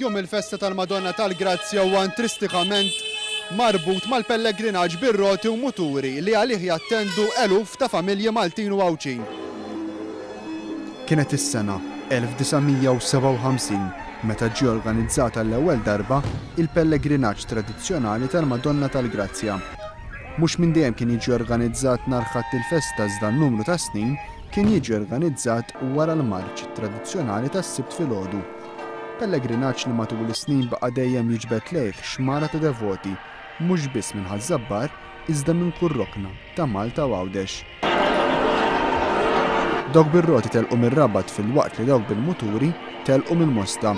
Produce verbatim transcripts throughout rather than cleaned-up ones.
Jum il-festa tal-Madonna tal-Grazzja huwa intristikament marbut mal-pellegrinaġġ bir-roti u muturi li għalih jattendu eluf ta' familji Maltin u Għawdxin. Kienet is-sena elf disa' mija u sebgħa u ħamsin meta ġie organizzata l-ewwel darba il-pellegrinaġġ tradizzjonali tal-Madonna tal-Grazzja. Mhux minn dejjem kien jiġi organizzat nhar Ħadd il-festa, iżda n-numru ta' snin kien jiġi organizzat wara l-marċ tradizzjonali tas-Sibt filgħodu. Pellegrinaġġ li matul is-snin baqa' dejjem jiġbed lejh xmara ta' devoti, mhux biss minn Ħaż-Żabbar, iżda minn kull rokna ta' Malta u Għawdex. Dawk bir-roti telqu mir-Rabat filwaqt li dawk bil-muturi telqu mill-Mosta.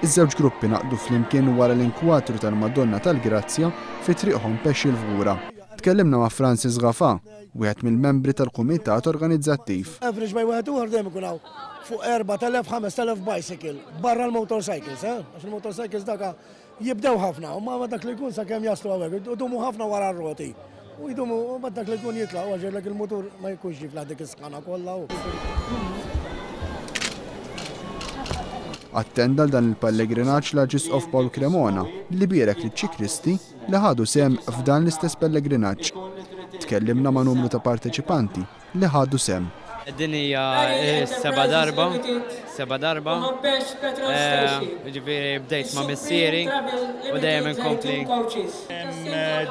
Iż-żewġ gruppi naqdu flimkien wara l-inkwatru tal-Madonna tal-Grazzja fi Triq Hompesch il-Fgura. Tkellimna ma' Francis Gafa, wieħed mill-membri tal-kumitat organizzattiv. Average by wieħed ieħor dejjem ikun hawn fuq erbat elef, ħames elef bicycle barra l-motorcycles, eh? Għax il-motorcycles daka jibdew ħafna, u ma dak li jkun sakemm jaslu hawnhekk, idumu ħafna wara r-roti. U jdumu, u ma dak li jkun jitlaq, u għax il-motur ma jkunx jiflaħ dik is-sħana kollha. Attenda dan il-pellegrinaġġ l-Arċisqof Paul Cremona li bierek liċ-ċiklisti li ħadu sehem f'dan l-istess pellegrinaġġ. Tkellimna ma' numru ta' parteċipanti li ħadu sehem. Din hija seba' darba, seba' darba. Ġifieri bdejt ma' missieri u dejjem inkompli.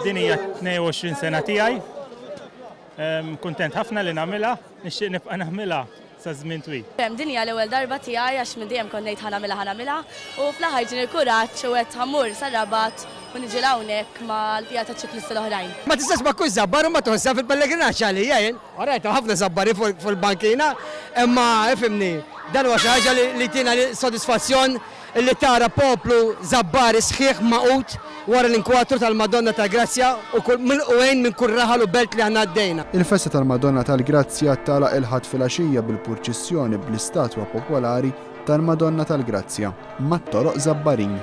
Din hija tnejn u għoxrin sena tiegħi. Kuntent ħafna li nagħmilha, nixtieq nibqa' nagħmilha sa żmien twil. Din hija l-ewwel darba tiegħi għax minn dejjem kont ngħid ħa nagħmilha, ħa nagħmilha, u fl-aħħar ġieni l-kuraġġ u qed ħammur sar-Rabat u niġi hawnhekk mal-bqija taċ-ċiklisti l-oħrajn. Ma tistax ma tkunx żabbar u ma tħossha fil-pellegrinaġġ għalija jien. Orajt, ħafna żabbari fuq il-bankina, imma ifhimni, dan huwa xi ħaġa li tina sodisfazzjon li tara poplu żabbari sħiħ maqut wara l-inkwatru tal-Madonna tal-Grazzja u kull milqugħin minn kull raħal u belt li aħna għaddejna. Il-festa tal-Madonna tal-Grazzja tagħlaq il-Ħadd filgħaxija bil-purċissjoni bl-istatwa popolari tal-Madonna tal-Grazzja mat-toroq Żabbarin.